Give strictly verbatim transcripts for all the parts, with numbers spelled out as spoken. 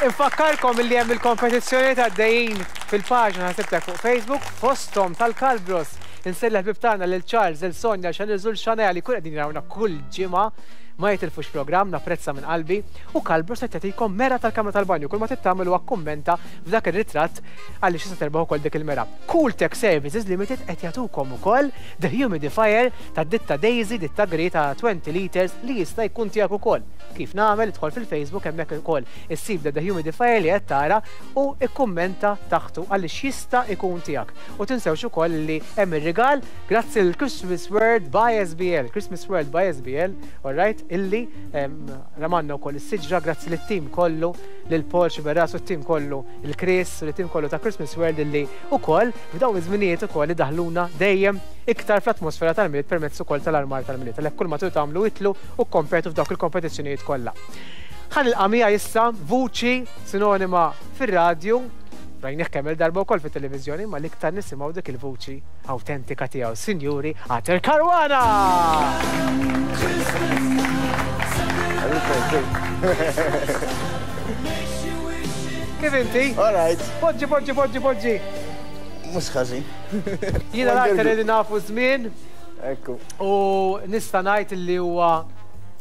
Infakkarkom li hemm il-kompetizzjoni ta' dejjin fil-paġna ħasibtek fuq Facebook, fosthom tal-Kalbros. Insellem ħbib tagħna lil Charles, lil Sonja, Xanil Xanel li kull qegħdin jarawna kull ġimgħa, ma jitilfux programm, napprezza minn qalbi. U Kalbros qed jagħtikom mera tal-kamra tal-banju, kull ma trid tagħmel huwa kummenta f'dak ir-ritratt għaliex issa terbaħ ukoll dik il-mera. Cool Tech Services Limited qed jagħtukom ukoll the humidifier ta' ditta Daisy, ditta Grey ta' twenty liters li jista' jkun tiegħek ukoll. Kif nagħmel? Idħol fil-Facebook, hemmhekk ukoll issib the humidifier li qed tara u ikkummenta taħtu għaliex jista' jkun tiegħek. U tinsewx ukoll li hemm ir-rigal grazzi l Christmas World by S B L, Christmas World by S B L, all right, illi ramanna wkoll is-siġra grazzi lit-tim kollu, lil Paul Xiberras u t-tim kollu, il-Chris u l-tim kollu ta' Christmas World illi ukoll f'dawn iż-żminijiet ukoll idaħluna dejjem iktar fl-atmosfera tal-Milied permezz ukoll tal-armar tal-Milied. Għalhekk kull ma tridu tagħmlu, idħlu u kompetu f'dawk il-kompetizzjonijiet kollha. Ħa nilqa' miegħi issa vuċi sinonima fir-radju, rajnih kemm il-darba wkoll fit-televiżjoni, ma l-iktar nisimgħu dik il-vuċi autentika tiegħu. Sinjuri, Arthur Caruana! Kif inti? All right. Poġġi, poġġi, poġġi, poġġi. Mhux ħażin. Jiena l-Arthur li nafu żmien Ekku. u nista' ngħid li huwa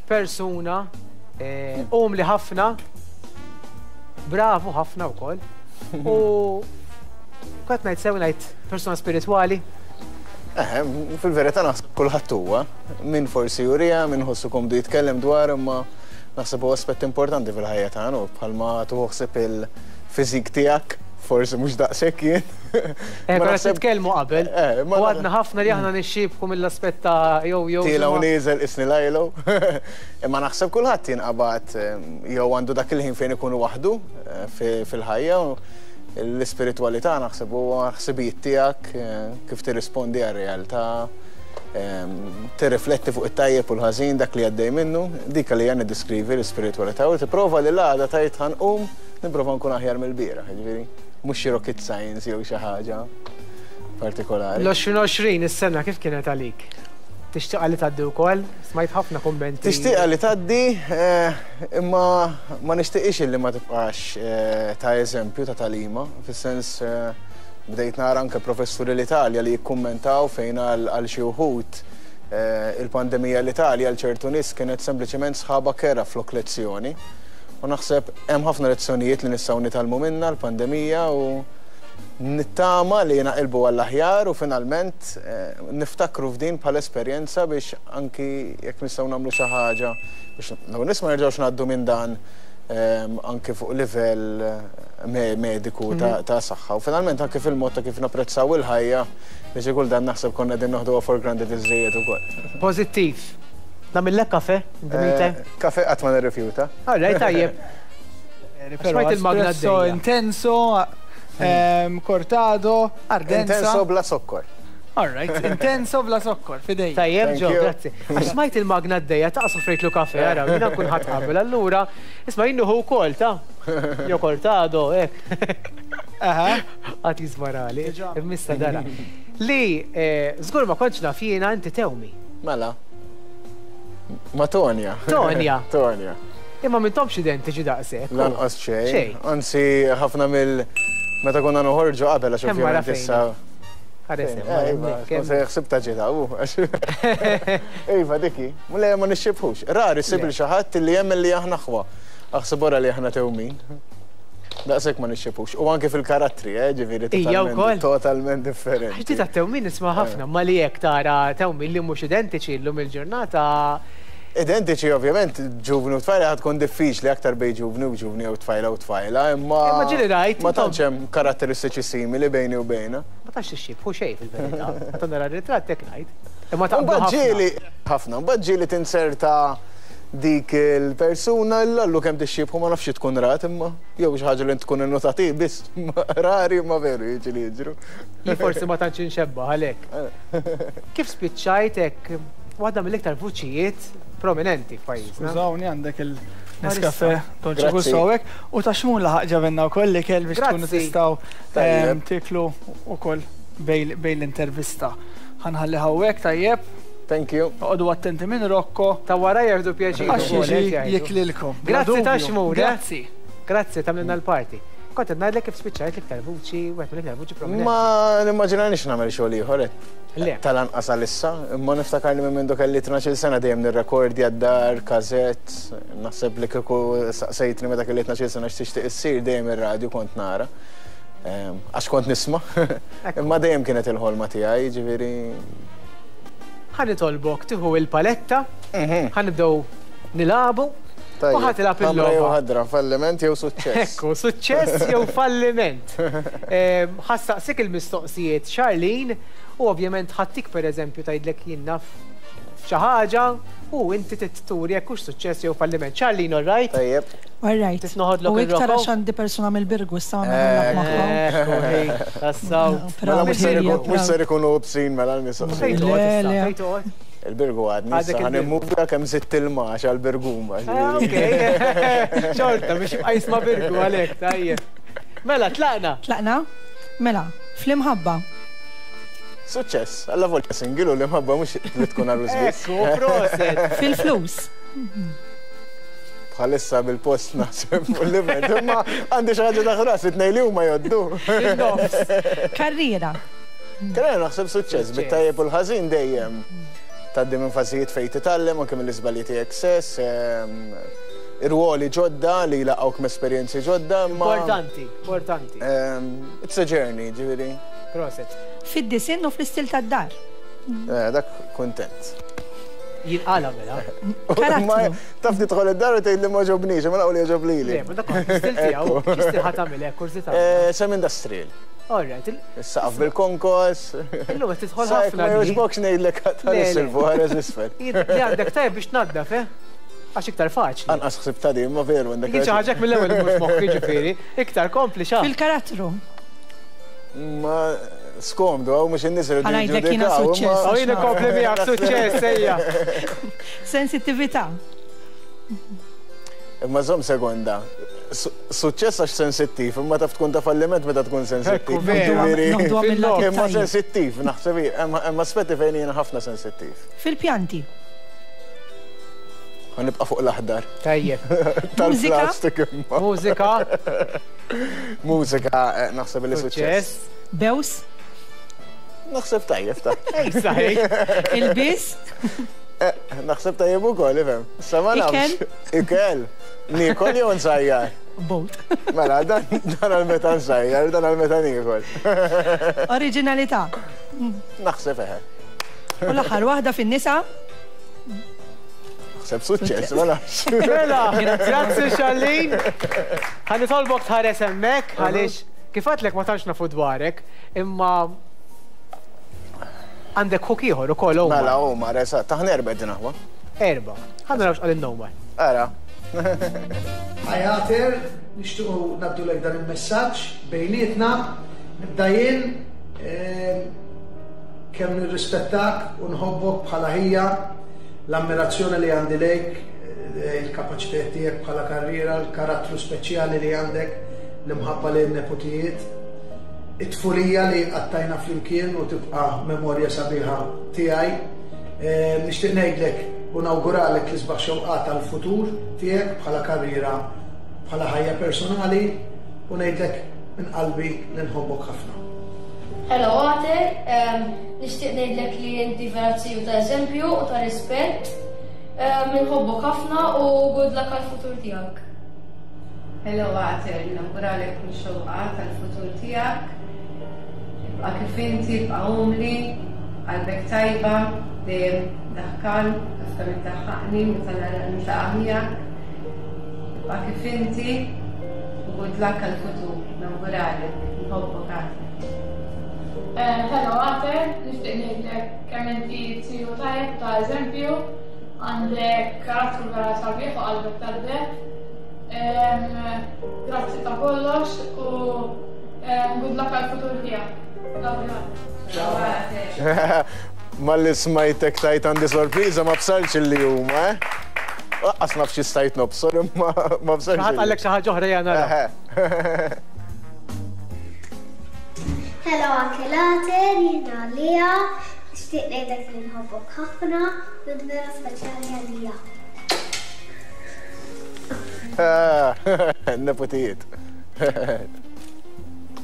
persuna eh, umli ħafna, bravu ħafna wkoll. U kont ngħid sew ngħid persuna spiritwali. Eh, fil-verità naħseb kulħadd huwa. Min forsi jurija, min ħossu komdu jitkellem dwar, imma naħseb huwa aspett importanti fil-ħajja tagħna u bħalma tieħu ħsieb il-fiżik tiegħek, forsi mhux daqshekk jien. Eh, Ma konna naħseb- nitkellmu qabel. Eh, ma U għadna ħafna li aħna nixxibku mill-aspett ta' jew jew. Tiela u insomma. nieżel isni lajlu. Imma naħseb kulħadd jinqabad eh, jew għandu dak il-ħin fejn ikunu waħdu eh, fi- fil-ħajja. U l-ispiritwalità naħseb huwa ħsibijiet tiegħek, eh, kif tirrispondi għar-realtà, ehm, tirrifletti fuq it-tajjeb u l-ħażin, dak li għaddej minnu, dik li għan diskrivi l-ispiritwalità u tipprova li l-għada tgħid ħa nqum nipprova nkun aħjar mill-bieraħ, jiġifieri mhux xi rocket science jew xi ħaġa partikolari. L-elfejn u għoxrin is-sena kif kienet għalik? Tixtieqa li tgħaddi wkoll? Smajt ħafna kummenti. Tixtieqa li tgħaddi, eh, imma ma nixtieqix li ma tibqax eh, ta' eżempju ta' tagħlima, fis-sens eh, bdejt nara anke professuri l-Italja li jikkummentaw fejn għal għal xi wħud eh, il-pandemija l-Italja għal ċertu nies kienet sempliċement sħaba kerha flok lezzjoni. U naħseb hemm ħafna lezzjonijiet li nistgħu nitgħallmu minnha l-pandemija u nittama li naqilbu għall-aħjar u finalment eh, niftakru f'din bħala esperjenza biex anki jekk nistgħu nagħmlu xi ħaġa biex l nies ma nerġgħux ngħaddu minn dan ehm, anki fuq livell eh, me- mediku ta' ta' saħħa u finalment anki fil-mod ta' kif napprezzaw il-ħajja li xi kull dan naħseb konna qegħdin noħduha for granted iżżejjed ukoll. Pożittiv. Nagħmillek kafe? In the meantime? Eh, Kafe qatt ma nirrifjuta. All right, tajjeb. Però Smajt il-magna espresso għaddejja. Intenso, ehm, cortado, ardenza. Intenso bla sokkor. All right, intenso bla sokkor, fidej. Tajjeb, Thank Ġo, you. grazzi. Għax smajt il-magna għaddejja, ta' soffrejtlu kafe, ara, jiena nkun ħadd qabel. Allura, isma' jinnuħu wkoll, ta' jo cortado, hekk. Aha. Għat jizmarali, Diġà. mista dara. Li, eh, żgur ma kontx naf jiena, inti tewmi. Mela. Ma Tonja. Tonja. Tonja. Imma m'intomx identiċi daqshekk. Lanqas xejn. Xejn. Anzi, ħafna mill meta konna noħorġu qabel għax Kemm wara ovvjament fejn? issa. Ħares hemm, Eh, Iva, hemmhekk, hemm. se ħsibta ġita, u. Iva, diki, le ma nixxibħux. Rari ssib Le. lil xi ħadd li jemmen li aħna aħwa. Aħseb wara li aħna tewmin. Daqshekk ma nixxibħux. U anke fil-karattri, eh, ġifieri Ija wkoll. totalment totalment differenti. Għax di ta' tewmin nisma' ħafna, ma li jekk tara tewmin li mhux identiċi llum il-ġurnata. Identiċi ovvjament, ġuvni u tfajla ħad tkun diffiċli, aktar bej ġuvni u ġuvni u tfajla u tfajla, imma. Imma ġieli rajt, Ma intom- tantx hemm karatteristiċi simili bejni u bejna. Ma tantx tixxibħu xejn fil-verità. Meta nara r-ritratt hekk ngħid. Imma taqblu Mbagħad ħafna. ġieli ħafna, mbagħad ġieli tinserta dik il-persuna l-allu kemm tixxibħu, ma nafx tkun rat imma jew xi ħaġa li tkun innotati biss, rari ma veru jiġi li jiġru. Jien forsi ma tantx inxebba għalhekk. Kif spiċċajt hekk waħda mill-iktar vuċijiet prominenti f'pajjiżna? Skużawni, għandek il-Nescafe Dolce Grazzi. Gusto hawnhekk u ta' Xmun laħaq ġabenna wkoll li kell biex tkunu Grazzi. tistgħu Tajjeb. ehm, tiklu ukoll bejn bejn l-intervista. Ħa nħalli hawnhekk, tajjeb. Thank you. Oqogħdu attenti minn Rocco Ta' wara jieħdu pjaċir għax ukoll, jiġi qed jgħidu. jiklilkom. Bla Grazzi ta' dubju. Xmun, eh? Grazzi. Grazzi tagħmlilna l-party. Kont qed ngħidlek kif spiċċajt l-iktar vuċi, wieħed mill-iktar vuċi prominenti. Ma nimmaġinanix nagħmel xogħol ieħor. Le. Tal-anqas għalissa, imma niftakar li minn mindu kelli tnax-il sena dejjem nirrekordja d-dar, kazett, naħseb li kieku saqsejtni meta kelli tnax-il sena x'tixtieq issir dejjem ir-radju kont nara. Ehm, Għax kont nisma'. Imma dejjem kienet il-ħolma tiegħi, ġifieri. Ħa nitolbok tieħu il-paletta, ħa nibdew nilagħbu, u ħa tilgħab Ħamra jew il-logħba. ħadra, falliment jew suċċess. Ekku, suċċess jew falliment. Ehm, Ħa ssaqsik il-mistoqsijiet Charlene u ovvjament ħa ttik per eżempju tgħidlek jien naf xi ħaġa u inti turi jekk hux suċċess jew falliment. Charlene, all right? Tajjeb. All right. Titnoħodlok U iktar ir-roko? għax għandi persuna mill-Birgu, issa ma nagħmel magħhom. Ekku, hej, tassaw. Mela mhux ser Proud, ikun- mhux ser ikunu bsin mela l-mistoqsijiet. Fejn toqgħod Le, issa? le. Fejn toqgħod? Il-Birgu għadni, Għadek issa ħa il-Birgu. nimmuvja kemm zitt il-max għal-Birguma. Ah, ok. Xorta, biex jibqa' jisma' Birgu għalek, tajjeb. Mela, tlaqna. Tlaqna? Mela, fl-imħabba. Suċċess, alla volta single u l-imħabba mhux li tkun għarus biss. Ekku, proset. Fil-flus. Bħalissa bil-post naħseb fuq l-event, imma għandi xi ħaġa taħt rasi tnejn li huma joddu. Il-nofs. Karriera. Karriera naħseb suċċess, bit-tajjeb u l-ħażin dejjem. Tgħaddi minn fażijiet fejn titgħallem anke mill-iżbalji tiegħek stess, ehm, irwoli ġodda li jlaqgħuk m'esperjenzi ġodda, imma Importanti, importanti. ehm, it's a journey, ġifieri. Proset. Fid-disinn u fl-istil tad-dar. Eh, Dak kontent. Jinqala mela. Karattru. Ma taf tidħol id-dar u tgħid li ma għoġobnix, ma naqgħu li għoġob lili. Le, ma dak stil tiegħu, x'stil ħa tagħmel hekk, kurżità. Eh, Sem industrial. All right, il- Is-saqaf bil-konkos. illum qed tidħol Sajk ħafna. ma di. jogħġbokx ngħidlek Le, ħares le. il-fuq, ħares isfel. Li għandek tajjeb biex tnaddaf, eh? Għax iktar faċli. Anqas ħsib ta' din, ma veru għandek. Kien xi ħaġa mill-ewwel mhux moħħi ġifieri, iktar kompli xa. Fil-karattru. Ma skomdu, għaw mhux in-nies iridu Ħa ngħidlek jiena jiġġudikaw, imma- suċċess. Għaw jien kompli miegħek suċċess ejja. Sensittività. Imma żomm sekonda. Su- Suċċess għax sensittiv, imma taf tkun ta' falliment meta tkun sensittiv. Ekku, veru. Ġifieri- Noħduha mill-lat Imma tajjeb. sensittiv, naħseb hi, hemm hemm aspetti fejn jiena ħafna sensittiv. Fil-pjanti. Ħa nibqa' fuq l-aħdar. Tajjeb. Tal-plastik imma. Mużika, Mużika, eh, naħseb li suċċess. suċċess. Bews. Naħseb tajjeb ta' Ej, saħi. Il-bis. Eh, Naħseb tajjeb ukoll, ifhem. Sa ma nafx. Ikel? Ikel. Niekol jew nsajjar? Both. Mela, dan dan għal meta nsajjar, dan għal meta niekol. Oriġinalità. Naħseb eħe. U l-aħħar waħda fin-nisa. Naħseb suċċess, ma nafx. Mela, grazzi Charlene. Ħa nitolbok tħares hemmhekk għaliex kif għedtlek ma tantx nafu dwarek, imma għandek ħuk ieħor ukoll Omar. Mela, Omar, eżatt, taħna erba' din aħwa. Erba. Ħa naraw x'qal Omar. Ara. Hi Arthur, nixtiequ ngħaddulek dan il-messaġġ bejnietna, nibda jien ehm, kemm nirrispettak u nħobbok bħala ħija, l-ammirazzjoni li għandi lejk, eh, il-kapaċitajiet tiegħek bħala karriera, l-karattru speċjali li għandek, l-imħabba li n-nepotijiet, it-tfulija li għaddejna flimkien u tibqa' memorja sabiħa tiegħi. Eh, Nixtieq ngħidlek u nawguralek l-isbaħ xewqat għal-futur tiegħek bħala karriera, bħala ħajja personali u ngħidlek minn qalbi li nħobbok ħafna. Hello Arthur, um, nixtieq ngħidlek li inti vera ziju ta' eżempju u ta' rispett. Um, Nħobbok ħafna u good luck għal-futur tiegħek. Hello Arthur, nawguralek kull xewqa tal-futur tiegħek. Ibqa' kif inti, ibqa' umli, qalbek tajba, dejjem daħkan, taf kemm iddaħħaqni meta niltaqa' miegħek. Ibqa' kif inti, u good luck għal-futur, nawguralek, nħobbok Arthur. Eh, Hello Arthur, nixtieq ngħidlek kemm inti ziju tajjeb ta' eżempju, għandek karattru vera sabiħ u qalbek tad-deheb. Em, Grazzi ta' kollox u em, good luck għal-futur tiegħek. Love you. Ciao Arthur. Malli smajtek tgħid għandi sorpriża ma bsarx li huma, eh? Lanqas naf xi stajt nobsor, imma ma bsarx. Ħadd qallek xi ħaġa oħra jana. Eħe. Hello Uncle Arthur, jiena Lija, nixtieq ngħidlek li nħobbok ħafna, u vera speċjali għalija. Nepotijiet.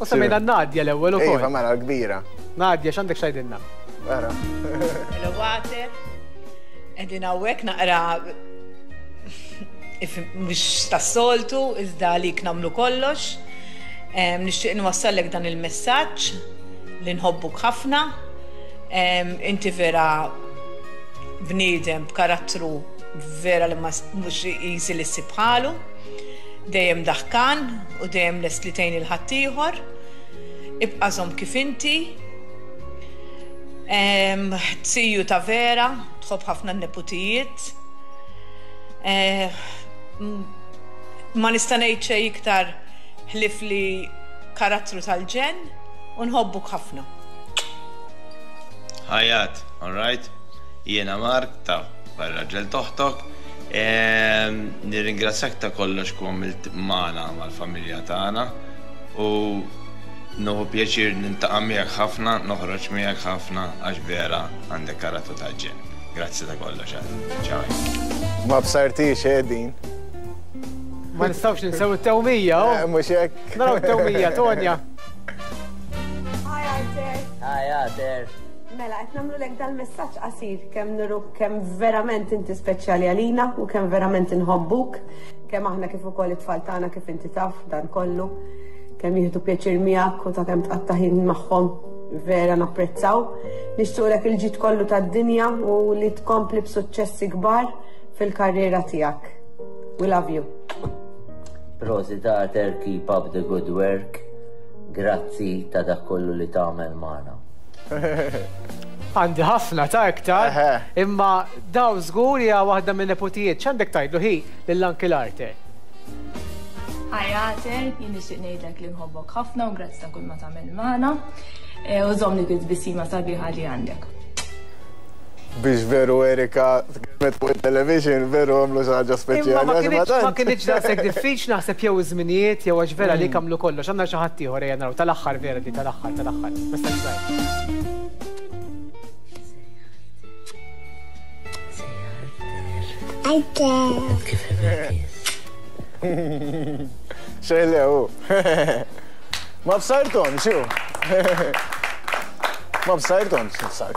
U semmejna Nadja l-ewwel ukoll. Iva, mela l-kbira. Nadja, x'għandek x'għidilna? Vera. Hello, Water. Qegħdin hawnhekk naqra mhux tas-soltu, iżda għalik nagħmlu kollox. Nixtieq nwassallek dan il-messaġġ li nħobbuk ħafna. Inti vera bniedem b'karattru vera li mhux easy li ssib bħalu. Dejjem daħkan u dejjem lest li tgħin il-ħaddieħor. Ibqa' żomm kif inti. Tiju ta' vera, tħobb ħafna n-neputijiet. Ma nista' ngħid xejn iktar ħlief li karattru tal-ġenn u nħobbuk ħafna. Ħajat, all right? Jiena Mark ta' raġel toħtok. Nirringrazzjak ta' kollox ku għamilt magħna mal-familja tagħna u nieħu pjaċir nintaqa' miegħek ħafna, noħroġ miegħek ħafna għax vera għandek karattru ta' ġenn. Grazzi ta' kollox għad. Ciao. Ma bsartix din. Ma nistgħux ninsew it-tewmija, oh. Mhux hekk. Naraw it-tewmija, Tonja. Hi Arthur. Hi Arthur. Mela, qed nagħmlulek dal-messaġġ qasir kemm nuruk kemm verament inti speċjali għalina u kemm verament inħobbuk, kemm aħna kif ukoll it-tfal tagħna kif inti taf dan kollu, kemm jieħdu pjaċir miegħek u ta' kemm tqatta' ħin magħhom vera napprezzaw. Nixtieqlek il-ġid kollu tad-dinja u li tkompli b'suċċessi kbar fil-karriera tiegħek. We love you. Prosit Arthur, keep up the good work. Grazzi ta' dak kollu li tagħmel magħna. Għandi ħafna ta' iktar, imma daw żgur hija waħda minn nepotijiet. X'għandek tgħidlu hi lill-Uncle Arthur? Hi Arthur, jien nixtieq ngħidlek li nħobbok ħafna u grazzi ta' kull ma tagħmel magħna. U żomm dik it-tbissima sabiħa li għandek. Biex veru Erika tkellmet fuq il-television, veru għamlu xi ħaġa speċjali. Ma kienx daqshekk diffiċli naħseb jew iż-żminijiet jew għax vera li għamlu kollox. Għandna xi ħadd ieħor ejja naraw tal-aħħar vera di tal-aħħar tal-aħħar. Messaġġ żgħir. Xejlew. Ma bsartom, xu? Ma bsartom,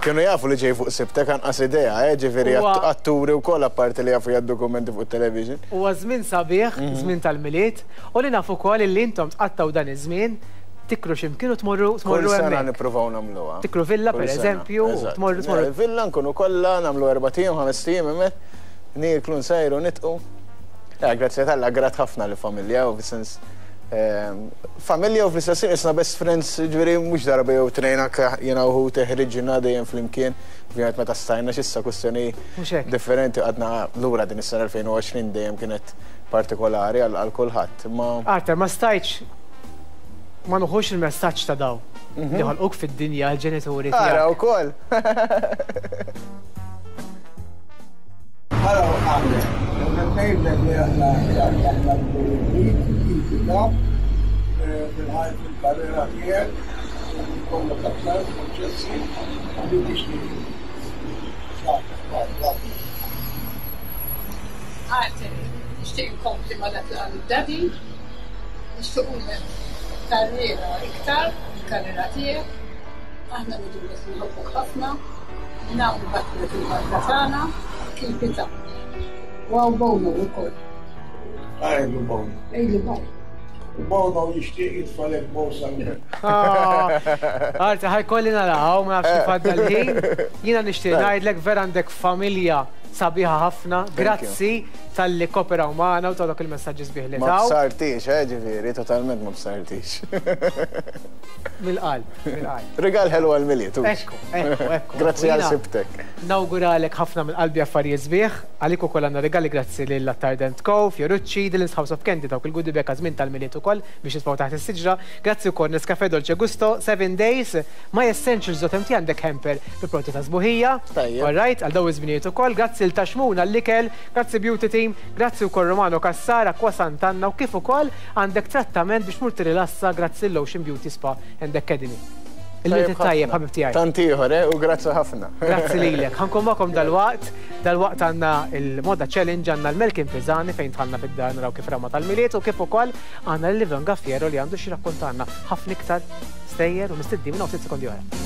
kienu jafu li ġej fuq sibtek anqas idea, ġifieri atturi wkoll apparti li jafu jgħaddu dokumenti fuq television. Huwa żmien sabiħ, żmien tal-Milied, u li nafu wkoll li intom tqattaw dan iż-żmien tikru x'imkien u tmorru tmorru hemmhekk. Kull sena nippruvaw nagħmluha. Tikru villa pereżempju, tmorru tmorru. Villa nkunu kollha nagħmlu erba' ijiem, ħames ijiem hemmhekk, nieklu nsejru nitqu. Grazzi t'Alla grat ħafna li familja u fis-sens familja u fl-istess ħin isna best friends, ġifieri mhux darba jew tnejn anke jiena u ħuti ħriġna dejjem flimkien, ovvjament meta stajna x'issa kwistjoni differenti għadna lura din is-sena elfejn u għoxrin dejjem kienet partikolari għal kulħadd. Arthur, ma stajtx ma nuħux il-messaġġ ta' daw li ħolquk fid-dinja l-ġenituri tiegħek. Ara wkoll. Hello, Arthur. Ngħidlek li aħna aħna fil-ħajt fil-karriera tiegħek, jkollok aktar suċċessi li tixtieq. Arthur, nixtieq inkompli ma' dak li qal id-daddy, nixtiequlek karriera iktar fil-karriera tiegħek, aħna ngħidulek li nħobbok ħafna, minn hawn nibgħatulek il-barka tagħna, keep it up. Wow, Bono wkoll. Għajlu Bono. Għajlu Bono. Bono jixtieq jitfalek bosa. Arthur, ħajkolli naraw, ma nafx kif għadda l-ħin. Jiena nixtieq ngħidlek vera għandek familja sabiħa ħafna. Grazzi tal-li kooperaw magħna u ta' dak il-messaġġi sbieħ li Ma taw. bsartix, eh, ġifieri, totalment ma bsartix. Mill-qalb, mill-qalb. Rigal ħelu għal-Milied. Ekku, ekku, ekku. Grazzi għal Jiena sibtek. Nawguralek ħafna minn qalbi affarijiet sbieħ, għalik ukoll għandna regali grazzi lil Attard and Co, Fiorucci, Dylan's House of Candy dawk il-goodie bag għaż-żmien tal-Milied ukoll biex jitfgħu taħt is-siġra. Grazzi wkoll Nescafe Dolce Gusto, seven Days, My Essentials dot M T għandek hamper bi prodotti ta' sbuħija. All right, għal daw iż-żminijiet ukoll, grazzi l Taxmuna l-ikel, grazzi Beauty Team, grazzi wkoll Romano Cassar, Acqua Sant'Anna u kif ukoll għandek trattament biex tmur tirilassa grazzi l-Ocean Beauty Spa and Academy. Il-Milied it-tajjeb, ħabib tiegħi. Tant ieħor, eh, u grazzi ħafna. Grazzi lilek. Ħa nkun magħkom dalwaqt, dalwaqt għandna il-Moda Challenge, għandna l-Melkin Pisani fejn dħalna fid-dar naraw kif rama tal-Milied u kif ukoll għandna l-Ivan Gaffiero li għandu xi rakkontanna ħafna iktar stejjer u mistednin minn ftit sekondi oħra.